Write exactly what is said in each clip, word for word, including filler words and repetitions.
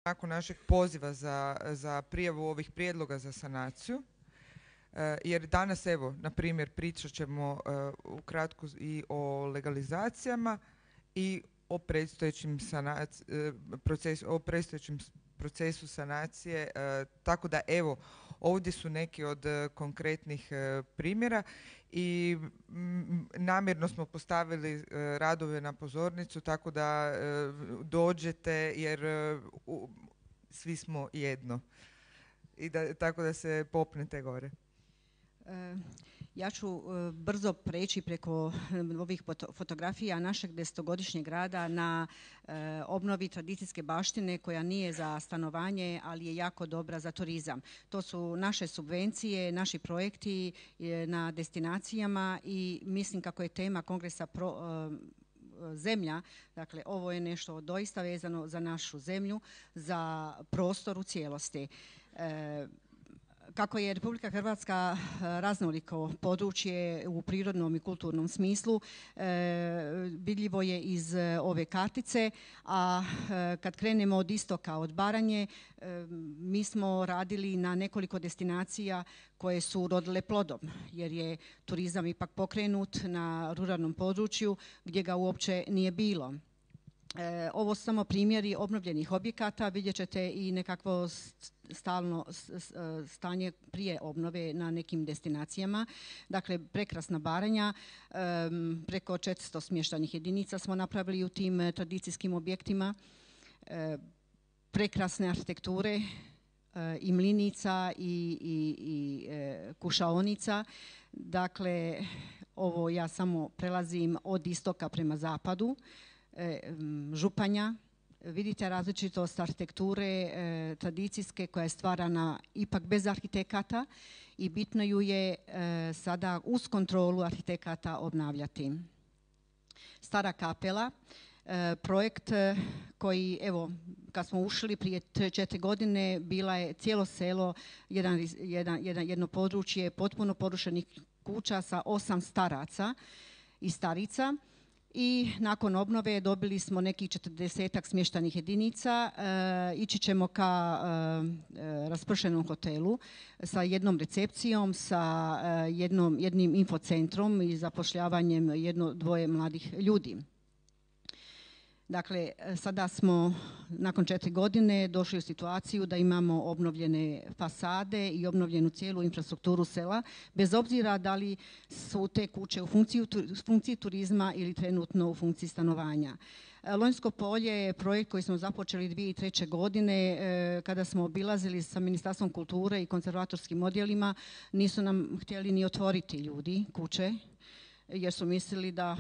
nakon našeg poziva za, za prijavu ovih prijedloga za sanaciju. E, jer danas, evo, na primjer, pričat ćemo e, ukratko i o legalizacijama i o predstojećim sanac, e, procesu, o predstojećim procesu sanacije. E, tako da, evo, ovdje su neki od e, konkretnih e, primjera i m, namjerno smo postavili e, radove na pozornicu tako da e, dođete jer e, u, svi smo jedno i da, tako da se popnete gore. E, ja ću e, brzo preći preko ovih fotografija našeg desetogodišnjeg rada na e, obnovi tradicijske baštine koja nije za stanovanje, ali je jako dobra za turizam. To su naše subvencije, naši projekti e, na destinacijama i mislim kako je tema kongresa pro, e, zemlja, dakle ovo je nešto doista vezano za našu zemlju, za prostor u cijelosti. E, Kako je Republika Hrvatska raznoliko područje u prirodnom i kulturnom smislu, e, vidljivo je iz ove kartice, a e, kad krenemo od istoka, od Baranje, e, mi smo radili na nekoliko destinacija koje su rodile plodom, jer je turizam ipak pokrenut na ruralnom području gdje ga uopće nije bilo. E, ovo su samo primjeri obnovljenih objekata, vidjet ćete i nekakvo stalno stanje prije obnove na nekim destinacijama. Dakle, prekrasna Baranja, e, preko četiristo smještajnih jedinica smo napravili u tim tradicijskim objektima, e, prekrasne arhitekture e, i mlinica i, i, i e, kušaonica. Dakle, ovo ja samo prelazim od istoka prema zapadu. Županja, vidite različitost arhitekture e, tradicijske koja je stvarana ipak bez arhitekata i bitno ju je e, sada uz kontrolu arhitekata obnavljati. Stara Kapela, e, projekt koji, evo, kad smo ušli prije tri četiri godine, bila je cijelo selo, jedan, jedan, jedan, jedno područje potpuno porušenih kuća sa osam staraca i starica. I nakon obnove dobili smo nekih četrdesetak smještajnih jedinica. E, ići ćemo ka e, raspršenom hotelu sa jednom recepcijom, sa e, jednom, jednim infocentrom i zapošljavanjem jedno, dvoje mladih ljudi. Dakle, sada smo nakon četiri godine došli u situaciju da imamo obnovljene fasade i obnovljenu cijelu infrastrukturu sela, bez obzira da li su te kuće u funkciji, funkciji turizma ili trenutno u funkciji stanovanja. Lonjsko polje je projekt koji smo započeli dvije tisuće treće. godine eh, kada smo obilazili sa Ministarstvom kulture i konzervatorskim odjelima. Nisu nam htjeli ni otvoriti ljudi kuće, jer su mislili da,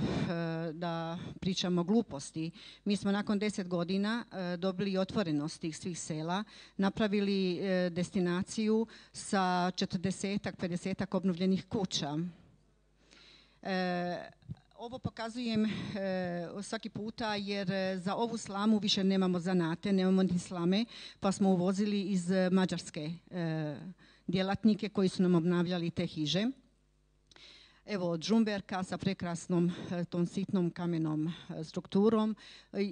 da pričamo gluposti. Mi smo nakon deset godina dobili otvorenost tih svih sela, napravili destinaciju sa četrdesetak, pedesetak obnovljenih kuća. E, ovo pokazujem e, svaki puta jer za ovu slamu više nemamo zanate, nemamo ni slame, pa smo uvozili iz Mađarske e, djelatnike koji su nam obnavljali te hiže. Evo od Žumberka sa prekrasnom tom sitnom kamenom strukturom,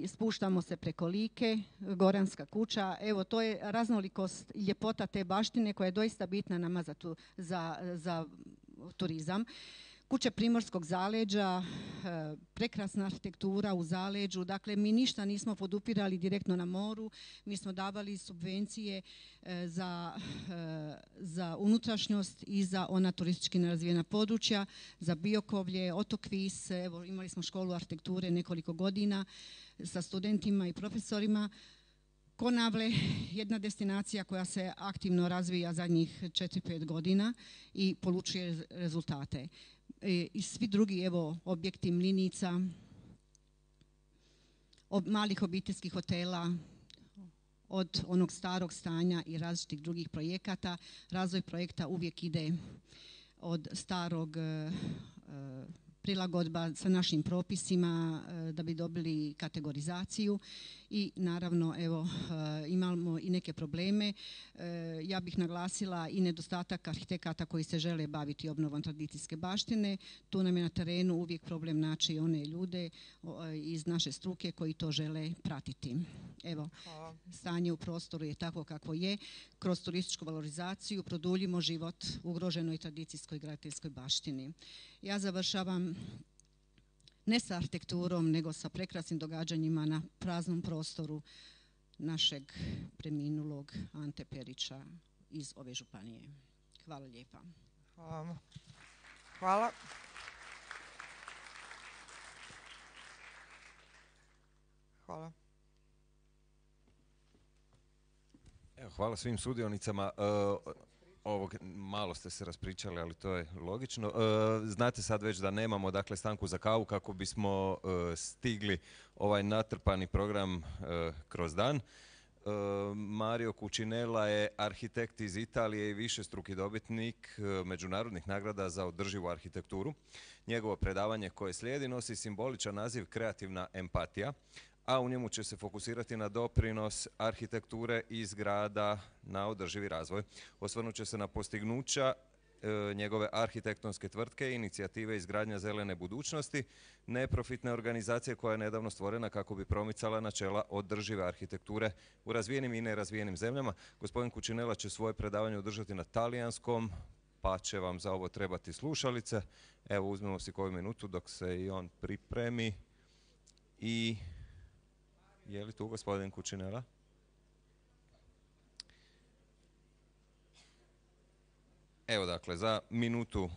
spuštamo se preko Like, Goranska kuća. Evo to je raznolikost i ljepota te baštine koja je doista bitna nama za, tu, za, za turizam. Kuće primorskog zaleđa, prekrasna arhitektura u zaleđu, dakle mi ništa nismo podupirali direktno na moru, mi smo davali subvencije za, za unutrašnjost i za ona turistički nerazvijena područja, za Biokovlje, otok Vis, evo imali smo školu arhitekture nekoliko godina sa studentima i profesorima. Konavle, jedna destinacija koja se aktivno razvija zadnjih četiri pet godina i polučuje rezultate. I svi drugi, evo, objekti mlinica, ob, malih obiteljskih hotela, od onog starog stanja i različitih drugih projekata. Razvoj projekta uvijek ide od starog e, prilagodba sa našim propisima e, da bi dobili kategorizaciju i naravno evo imamo i neke probleme. Ja bih naglasila i nedostatak arhitekata koji se žele baviti obnovom tradicijske baštine. Tu nam je na terenu uvijek problem naći one ljude iz naše struke koji to žele pratiti. Evo, stanje u prostoru je takvo kako je. Kroz turističku valorizaciju produljimo život ugroženoj tradicijskoj graditeljskoj baštini. Ja završavam ne sa arhitekturom, nego sa prekrasnim događanjima na praznom prostoru našeg preminulog Ante Perića iz ove županije. Hvala lijepa. Hvala. Hvala. Hvala. Evo, hvala svim sudionicama. Uh, ovog, malo ste se raspričali, ali to je logično. Uh, znate sad već da nemamo dakle, stanku za kavu kako bismo uh, stigli ovaj natrpani program uh, kroz dan. Uh, Mario Cucinella je arhitekt iz Italije i višestruki dobitnik uh, međunarodnih nagrada za održivu arhitekturu. Njegovo predavanje koje slijedi nosi simboličan naziv Kreativna empatija, a u njemu će se fokusirati na doprinos arhitekture i zgrada na održivi razvoj. Osvrnut će se na postignuća e, njegove arhitektonske tvrtke, inicijative izgradnja zelene budućnosti, neprofitne organizacije koja je nedavno stvorena kako bi promicala načela održive arhitekture u razvijenim i nerazvijenim zemljama. Gospodin Cucinella će svoje predavanje održati na talijanskom, pa će vam za ovo trebati slušalice. Evo, uzmemo si koju minutu dok se i on pripremi. I je li tu gospodin Cucinella? Evo dakle, za minutu